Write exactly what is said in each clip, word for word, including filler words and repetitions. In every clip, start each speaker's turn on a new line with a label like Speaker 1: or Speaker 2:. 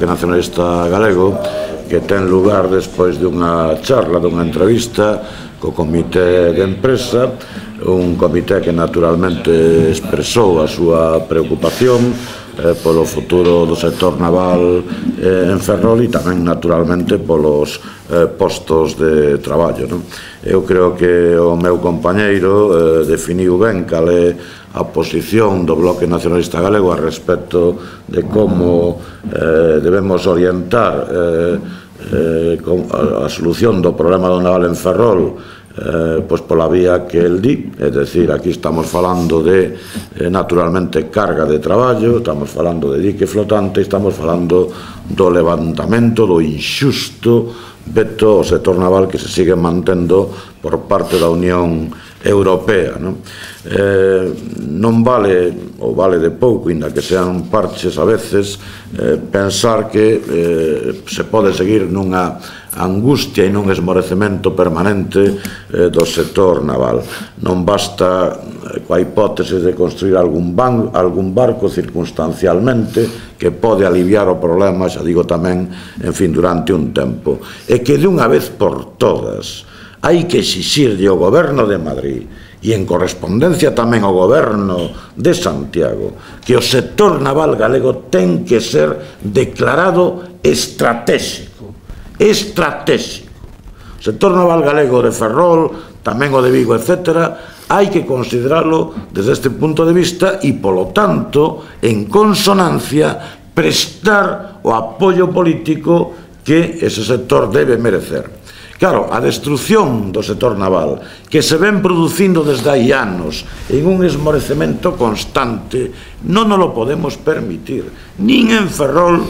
Speaker 1: Bloque Nacionalista Galego, que ten lugar despois dunha charla, dunha entrevista co comité de empresa, un comité que naturalmente expresou a súa preocupación eh, polo futuro do sector naval eh, en Ferrol e tamén naturalmente polos eh, postos de traballo, non? Eu creo que o meu compañeiro eh, definiu ben cal é a posición do Bloque Nacionalista Galego a respecto de como eh, debemos orientar eh, eh, a, a solución do problema do naval en Ferrol Eh, pois pola vía que el di, é dicir, aquí estamos falando de eh, naturalmente carga de traballo, estamos falando de dique flotante, estamos falando do levantamento do inxusto veto ao sector naval que se sigue mantendo por parte da Unión Europea, non? Eh, non vale, ou vale de pouco, inda que sean parches a veces, eh, pensar que eh, se pode seguir nunha angustia e nun esmorecemento permanente eh, do sector naval. Non basta eh, coa hipótese de construir algún, ban, algún barco circunstancialmente que pode aliviar o problema, xa digo tamén, en fin, durante un tempo. E que de unha vez por todas hai que exixirlle ao goberno de Madrid e en correspondencia tamén ao goberno de Santiago que o sector naval galego ten que ser declarado estratégico. Estratégico. O sector naval galego de Ferrol, tamén o de Vigo, etcétera, hai que considerarlo desde este punto de vista e, polo tanto, en consonancia, prestar o apoio político que ese sector debe merecer. Claro, a destrucción do sector naval, que se ven producindo desde hai anos en un esmorecemento constante, non nos lo podemos permitir, nin en Ferrol,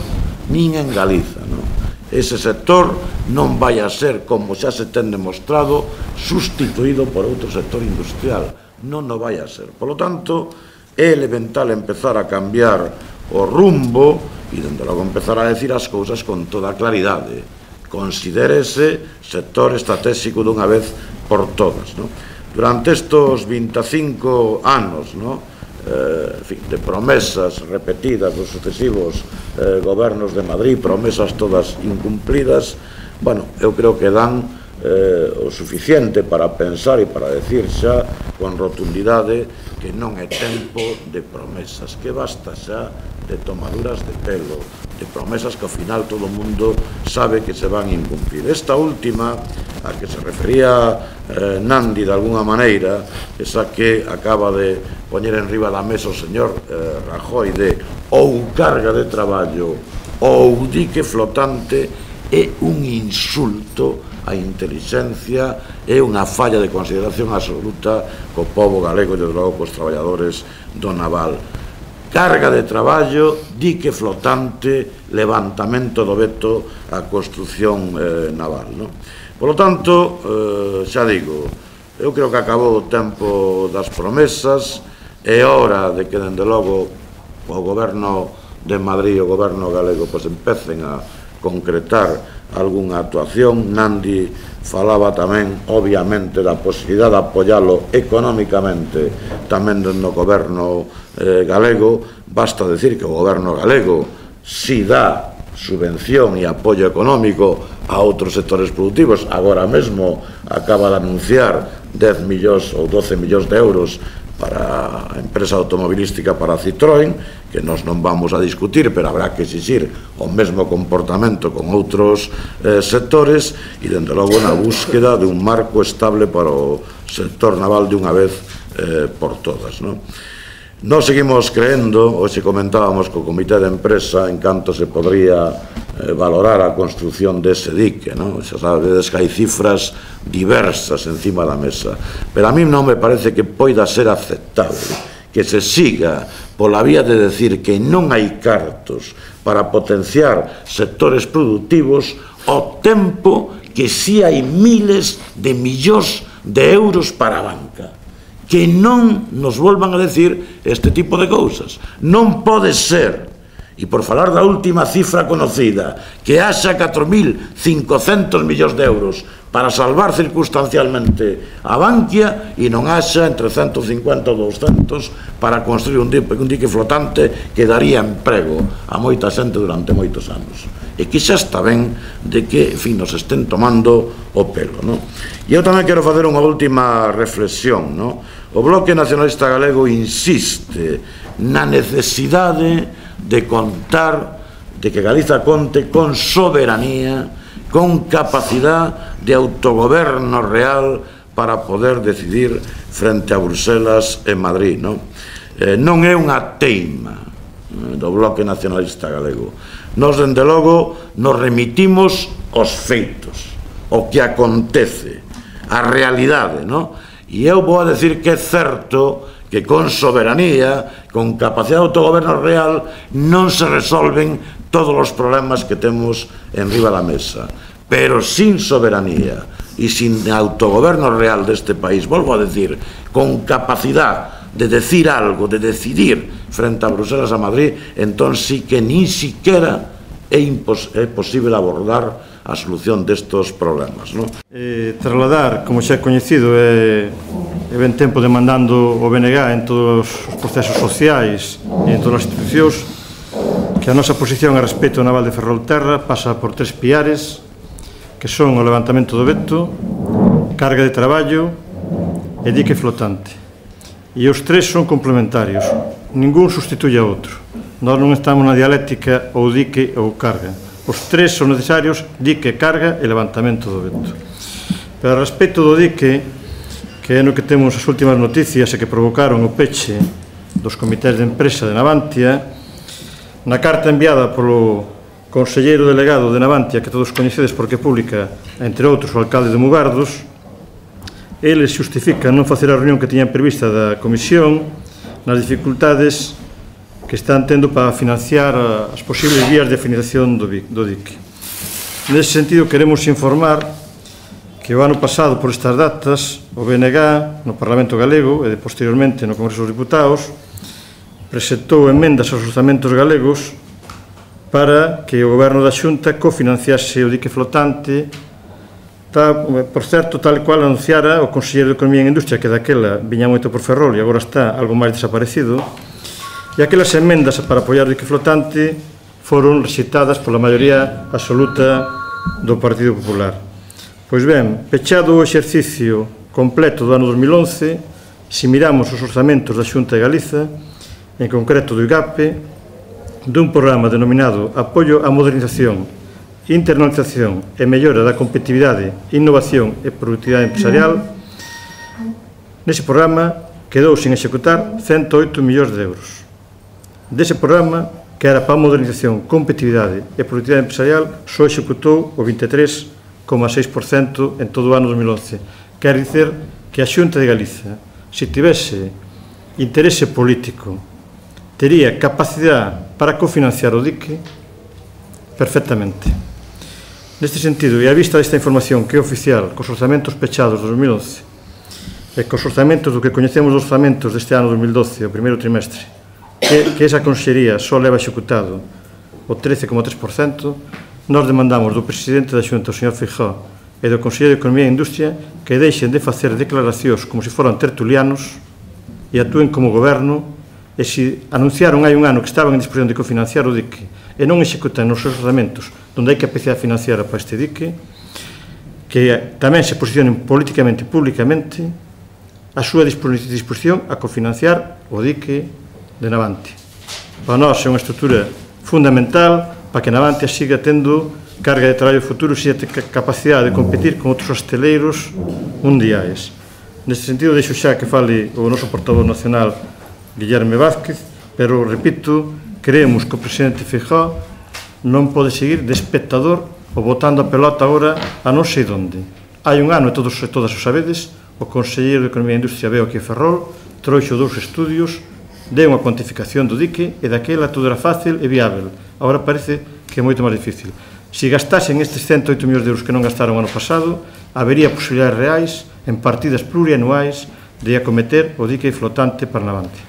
Speaker 1: nin en Galiza, non? Ese sector non vai a ser, como xa se ten demostrado, sustituído por outro sector industrial. Non o vai a ser. Por lo tanto, é elemental empezar a cambiar o rumbo e, dende logo, empezar a decir as cousas con toda claridade. Considérese sector estratégico dunha vez por todas, non? Durante estos vinte e cinco anos, non? Eh, en fin, de promesas repetidas dos sucesivos eh, gobernos de Madrid, promesas todas incumplidas, bueno, eu creo que dan eh, o suficiente para pensar e para decir xa con rotundidade que non é tempo de promesas, que basta xa de tomaduras de pelo, de promesas que ao final todo o mundo sabe que se van a incumplir. Esta última, a que se refería eh, Nandi de alguna maneira, esa que acaba de poñer en riba da mesa o señor eh, Rajoy de ou carga de traballo ou dique flotante, é un insulto á intelixencia, é unha falla de consideración absoluta co pobo galego e, desde logo, cos traballadores do naval. Carga de traballo, dique flotante, levantamento do veto á construción eh, naval, non? Por lo tanto, eh, xa digo, eu creo que acabou o tempo das promesas, é hora de que, dende logo, o goberno de Madrid e o goberno galego pois empecen a concretar algunha actuación. Nandi falaba tamén, obviamente, da posibilidade de apoialo económicamente tamén no goberno eh, galego. Basta decir que o goberno galego si dá subvención e apoio económico a outros sectores productivos. Agora mesmo acaba de anunciar dez millóns ou doce millóns de euros para a empresa automobilística para Citroën, que nós non vamos a discutir, pero habrá que exixir o mesmo comportamento con outros eh, sectores e, dende logo, na búsqueda de un marco estable para o sector naval de unha vez eh, por todas, non? Nós seguimos creendo, hoxe comentábamos co comité de empresa en canto se podría eh, valorar a construción dese dique, non? Xa sabedes que hai cifras diversas encima da mesa, pero a mí non me parece que poida ser aceptable que se siga pola vía de decir que non hai cartos para potenciar sectores productivos ao tempo que si hai miles de millóns de euros para a banca. Que non nos volvan a decir este tipo de cousas. Non pode ser e por falar da última cifra conocida, que haxa catro mil cincocentos millóns de euros para salvar circunstancialmente a Bankia e non haxa entre ciento cincuenta ou doscientos para construir un dique, un dique flotante que daría emprego a moita xente durante moitos anos. E que xa está ben de que, en fin, nos estén tomando o pelo, non? E eu tamén quero facer unha última reflexión, non? O Bloque Nacionalista Galego insiste na necesidade de contar, de que Galiza conte con soberanía, con capacidad de autogoberno real para poder decidir frente a Bruselas e Madrid, non? Eh, non é unha teima do Bloque Nacionalista Galego. Nos, dende logo, nos remitimos aos feitos, o que acontece, a realidade, non? E eu vou a decir que é certo que con soberanía, con capacidade de autogoberno real, non se resolven todos os problemas que temos en riba da mesa. Pero sin soberanía e sin autogoberno real deste país, volvo a decir, con capacidade de decir algo, de decidir frente a Bruselas a Madrid, entón sí que nin siquiera é, é posible abordar a solución destes problemas, non?
Speaker 2: Eh, trasladar, como xa é coñecido, é, é ben tempo demandando o B N G en todos os procesos sociais e en todas as institucións que a nosa posición a respecto do naval de Ferrolterra pasa por tres piares, que son o levantamento do veto, carga de traballo e dique flotante. E os tres son complementarios, ningún sustituye a outro. Nós non estamos na dialéctica ou dique ou carga. Os tres son necesarios, dique, carga e levantamento do veto. Pero a respecto do dique, que é no que temos as últimas noticias e que provocaron o peche dos comités de empresa de Navantia, na carta enviada polo conselleiro delegado de Navantia, que todos coñecedes porque pública, entre outros, o alcalde de Mugardos, eles justifican non facer a reunión que tiñan prevista da comisión nas dificultades que están tendo para financiar as posibles vías de financiación do dique. Nese sentido, queremos informar que o ano pasado, por estas datas, o B N G no Parlamento Galego e posteriormente no Congreso dos Diputados presentou emendas aos orzamentos galegos para que o Goberno da Xunta cofinanciase o dique flotante, por certo, tal e cual anunciara o Conselleiro de Economía e Industria, que daquela viña moito por Ferrol e agora está algo máis desaparecido. E aquelas emendas para apoiar o dique flotante foron rexeitadas pola maioría absoluta do Partido Popular. Pois ben, pechado o exercicio completo do ano dos mil once, se miramos os orzamentos da Xunta de Galiza, en concreto do I G A P E, dun programa denominado Apoio á Modernización, Internalización e Mellora da Competitividade, Innovación e Productividade Empresarial, nese programa quedou sin executar ciento oito millóns de euros. Dese programa, que era para a modernización, competitividade e productividade empresarial, só executou o vinte e tres coma seis por cento en todo o ano dos mil once. Quer dizer que a Xunta de Galiza, se tivese interese político, tería capacidade para cofinanciar o dique perfectamente. Neste sentido, e a vista desta información que é oficial cos orzamentos pechados dos dos mil once e cos orzamentos do que coñecemos dos orzamentos deste ano dos mil doce, o primeiro trimestre, que, que esa consellería só leva executado o trece coma tres por cento, nós demandamos do presidente da Xunta, o señor Feijóo, e do Conselleiro de Economía e Industria que deixen de facer declaracións como se foran tertulianos e actúen como goberno, e se anunciaron hai un ano que estaban en disposición de cofinanciar o dique e non executan nos seus orzamentos onde hai capacidade financiera para este dique, que tamén se posicionen políticamente e públicamente a súa disposición a cofinanciar o dique de Navantia. Para nós é unha estrutura fundamental para que Navantia siga tendo carga de traballo futuro e siga ter capacidade de competir con outros hosteleiros mundiais. Neste sentido, deixo xa que fale o noso portavoz nacional, Guillerme Vázquez, pero, repito, creemos que o presidente Feijóo non pode seguir de espectador ou botando a pelota agora a non sei onde. Hai un ano, e todos e todas o sabedes, o Conselleiro de Economía e Industria veo aquí a Ferrol, trouxo dous estudios, deu unha cuantificación do dique e daquela todo era fácil e viável. Agora parece que é moito máis difícil. Se gastasen estes ciento oito millóns de euros que non gastaron ano pasado, habería posibilidades reais en partidas plurianuais de acometer o dique flotante para Navantia.